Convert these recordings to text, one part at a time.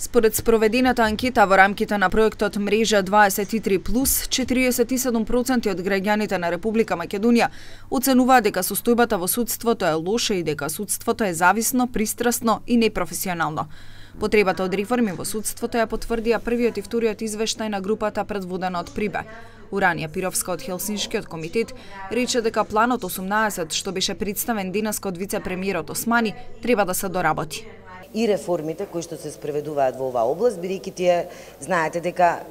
Според спроведената анкета во рамките на проектот Мрежа 23+, 47% од граѓаните на Република Македонија оценуваат дека состојбата во судството е лоша и дека судството е зависно, пристрасно и непрофесионално. Потребата од реформи во судството ја потврдија првиот и вториот извештај на групата предводена од Прибе. Уранија Пировска од Хелсиншкиот комитет рече дека планот 18, што беше представен денеска од вице-премиерот Османи, треба да се доработи. И реформите кои што се спроведуваат во оваа област, бидејќи тие знаете дека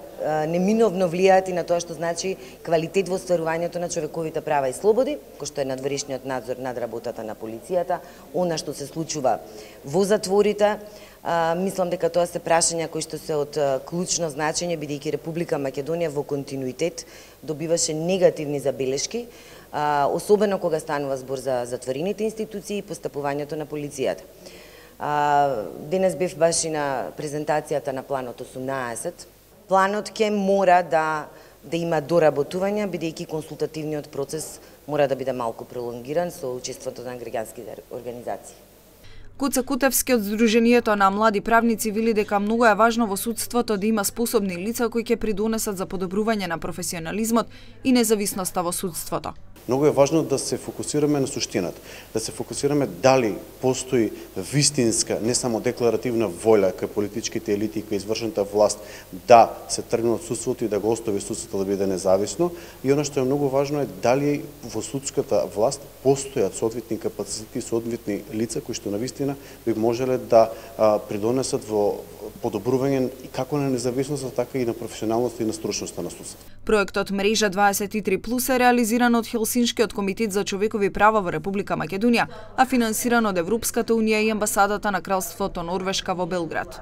неминовно влијаат и на тоа што значи квалитет во остварувањето на човековите права и слободи, кој што е надворешниот надзор над работата на полицијата, она што се случува во затворите. Мислам дека тоа се прашања кои што се од клучно значење, бидејќи Република Македонија во континуитет добиваше негативни забелешки, особено кога станува збор за затворените институции и постапувањето на полицијата. Денес бев баш и на презентацијата на планот 18. Планот ќе мора да има доработување, бидејќи консултативниот процес мора да биде малку пролонгиран со учеството на граѓанските организации. Куца Кутевски од Сдруженијето на млади правници вели дека многу е важно во судството да има способни лица кои ќе придонесат за подобрување на професионализмот и независноста во судството. Многу е важно да се фокусираме на суштината, да се фокусираме дали постои вистинска, не само декларативна волја кај политичките елити и кај извршната власт да се тргне од судството и да го остави судството да биде независно, и она што е многу важно е дали во судската власт постојат соодветни капацитети и соодветни лица кои што навистина би можеле да придонесат во подобрување и како на независноста, така и на професионалноста и на стручноста на судството. Проектот Мрежа 23+ е реализиран од Хелсиншкиот комитет за човекови права во Република Македонија, а финансиран од Европската унија и амбасадата на Кралството Норвешка во Белград.